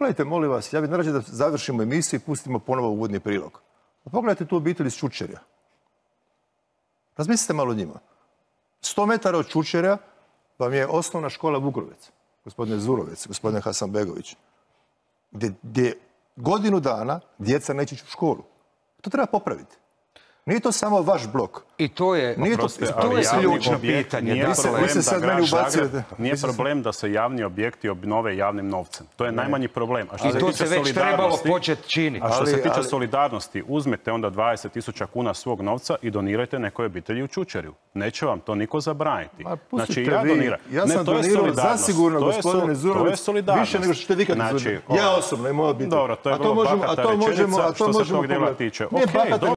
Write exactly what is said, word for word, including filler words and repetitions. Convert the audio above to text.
Pogledajte, molim vas, ja bih narađen da završimo emisiju i pustimo ponovo uvodni prilog. Pogledajte tu obitelj iz Čučerja. Razmislite malo o njima. Sto metara od Čučerja vam je osnovna škola Vugrovec, gospodine Zurovec, gospodine Hasanbegović, gdje godinu dana djeca neće ići u školu. To treba popraviti. Nije to samo vaš blok. I to je, nije to, proste, to je ključno pitanje. Nije, problem, se sad meni Zagreb, nije problem da se javni objekti obnove javnim novcem. To je ne. najmanji problem. A što I se to tiče se već trebalo početi činiti. A što ali, se tiče ali... solidarnosti, uzmete onda dvadeset tisuća kuna svog novca i donirajte nekoj obitelji u Čučerju. Neće vam to niko zabraniti. Znači, ja doniram. Ja sam ne, donirao zasigurno, gospodine Zurović, više nego što ste vi kad znači, Ja osobno i moja obitelj. Dobro, to je vrlo bahata rečenica što se tog djela tiče.